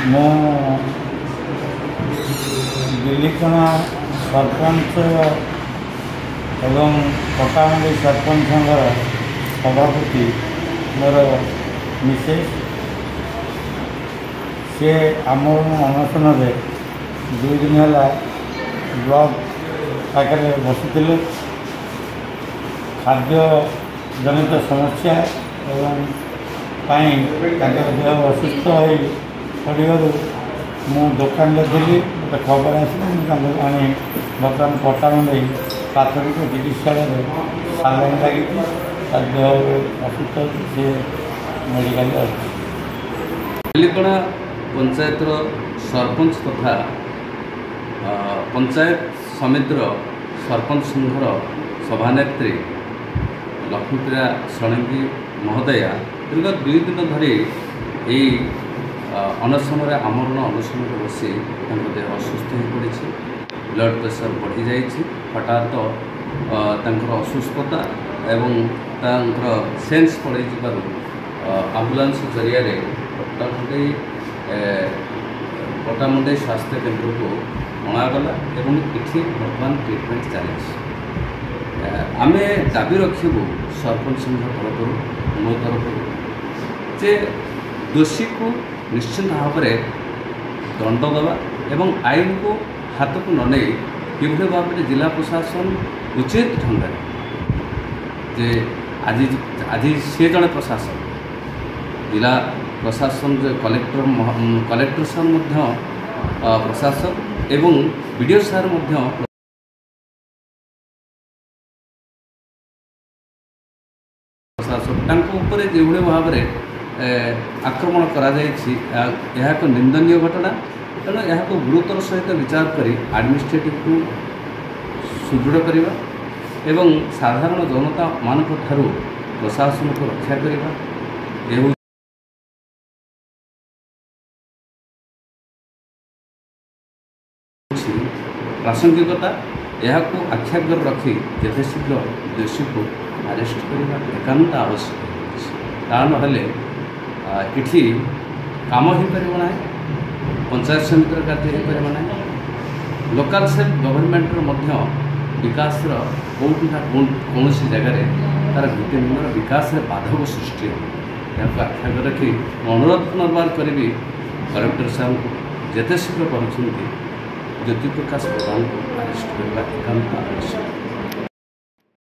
ମୁଁ ବିଲିକଣା ସରପଞ୍ଚ ଏବଂ ପଟ୍ଟାମୁଣ୍ଡେଇ ସରପଞ୍ଚ ସଂଘର ସଭାପତି ମୋର ମିସେସ୍, ସେ ଆମରଣ ଅନଶନରେ 2 ଦିନ ହେଲା ବ୍ଲକ ପାଖରେ ବସିଥିଲେ। ଖାଦ୍ୟ ଜନିତ ସମସ୍ୟା ଏବଂ ପାଇଁ ତାଙ୍କର ଦେହ ଅସୁସ୍ଥ ହୋଇ ପଡ଼ିବାରୁ ମୁଁ ଦୋକାନରେ ଥିଲି, ମୋତେ ଖବର ଆସିଲା, ମୁଁ ତାଙ୍କୁ ଆଣି ବର୍ତ୍ତମାନ ପଟ୍ଟାମୁଣ୍ଡେଇ ପ୍ରାଥମିକ ଚିକିତ୍ସାଳୟରେ ସାଲାଇନ୍ ଲାଗିଛି। ତା ଦେହ ଅସୁସ୍ଥ ଅଛି, ସେ ମେଡ଼ିକାଲରେ ଅଛି। ବିଲିକଣା ପଞ୍ଚାୟତର ସରପଞ୍ଚ ତଥା ପଞ୍ଚାୟତ ସମିତିର ସରପଞ୍ଚ ସଂଘର ସଭାନେତ୍ରୀ ଲକ୍ଷ୍ମୀପ୍ରିୟା ଷଡ଼ଙ୍ଗୀ ମହୋଦୟା ଦୀର୍ଘ 2 ଦିନ ଧରି ଏଇ ଅନଶନରେ, ଆମରଣ ଅନଶନରେ ବସି ତାଙ୍କ ଦେହ ଅସୁସ୍ଥ ହୋଇପଡ଼ିଛି। ବ୍ଲଡ଼ ପ୍ରେସର ବଢ଼ିଯାଇଛି। ହଠାତ୍ ତାଙ୍କର ଅସୁସ୍ଥତା ଏବଂ ତାଙ୍କର ସେନ୍ସ ପଳାଇ ଯିବାରୁ ଆମ୍ବୁଲାନ୍ସ ଜରିଆରେ ପଟ୍ଟାମୁଣ୍ଡେଇ ସ୍ୱାସ୍ଥ୍ୟ କେନ୍ଦ୍ରକୁ ଅଣାଗଲା ଏବଂ ଏଠି ବର୍ତ୍ତମାନ ଟ୍ରିଟମେଣ୍ଟ ଚାଲିଛି। ଆମେ ଦାବି ରଖିବୁ ସରପଞ୍ଚ ସଂଘ ତରଫରୁ, ମୋ ତରଫରୁ, ଯେ ଦୋଷୀକୁ ନିଶ୍ଚିତ ଭାବରେ ଦଣ୍ଡ ଦେବା ଏବଂ ଆଇନକୁ ହାତକୁ ନ ନେଇ କିଭଳି ଭାବରେ ଜିଲ୍ଲା ପ୍ରଶାସନ ଉଚିତ ଢଙ୍ଗରେ, ଯେ ଆଜି ସିଏ ଜଣେ ପ୍ରଶାସକ, ଜିଲ୍ଲା ପ୍ରଶାସନ, ଯେ କଲେକ୍ଟର ସାର୍ ମଧ୍ୟ ପ୍ରଶାସକ ଏବଂ ବି ଡ଼ି ଓ ସାର୍ ମଧ୍ୟ ପ୍ରଶାସକ, ତାଙ୍କ ଉପରେ ଯେଉଁଭଳି ଭାବରେ ଆକ୍ରମଣ କରାଯାଇଛି ଏହା ଏକ ନିନ୍ଦନୀୟ ଘଟଣା। ତେଣୁ ଏହାକୁ ଗୁରୁତର ସହିତ ବିଚାର କରି ଆଡ଼ମିନିଷ୍ଟ୍ରେଟିଭକୁ ସୁଦୃଢ଼ କରିବା ଏବଂ ସାଧାରଣ ଜନତାମାନଙ୍କ ଠାରୁ ପ୍ରଶାସନକୁ ରକ୍ଷା କରିବା ଏ ହେଉଛି ପ୍ରାସଙ୍ଗିକତା। ଏହାକୁ ଆଖିଆଗରେ ରଖି ଯେତେ ଶୀଘ୍ର ଦୋଷୀକୁ ଆରେଷ୍ଟ କରିବା ଏକାନ୍ତ ଆବଶ୍ୟକ ହେଉଛି। ତା ନହେଲେ ଏଠି କାମ ହୋଇପାରିବ ନାହିଁ, ପଞ୍ଚାୟତ ସମିତିର କାର୍ଯ୍ୟ ହୋଇପାରିବ ନାହିଁ, ଲୋକାଲ୍ ସେଲ୍ଫ ଗଭର୍ଣ୍ଣମେଣ୍ଟର ମଧ୍ୟ ବିକାଶର କେଉଁଠି ନା କୌଣସି ଜାଗାରେ ତା'ର ଭିତ୍ତିଭୂମିର ବିକାଶରେ ବାଧକ ସୃଷ୍ଟି ହେବ। ଏହାକୁ ଆଖିଆଗରେ ରଖି ମୁଁ ଅନୁରୋଧ ପୁନର୍ବାର କରିବି କଲେକ୍ଟର ସାହେବଙ୍କୁ, ଯେତେ ଶୀଘ୍ର ପାରୁଛନ୍ତି ଜ୍ୟୋତିପ୍ରକାଶ ପ୍ରଧାନଙ୍କୁ ଆରେଷ୍ଟ କରିବା ଏକାନ୍ତ ଆବଶ୍ୟକ।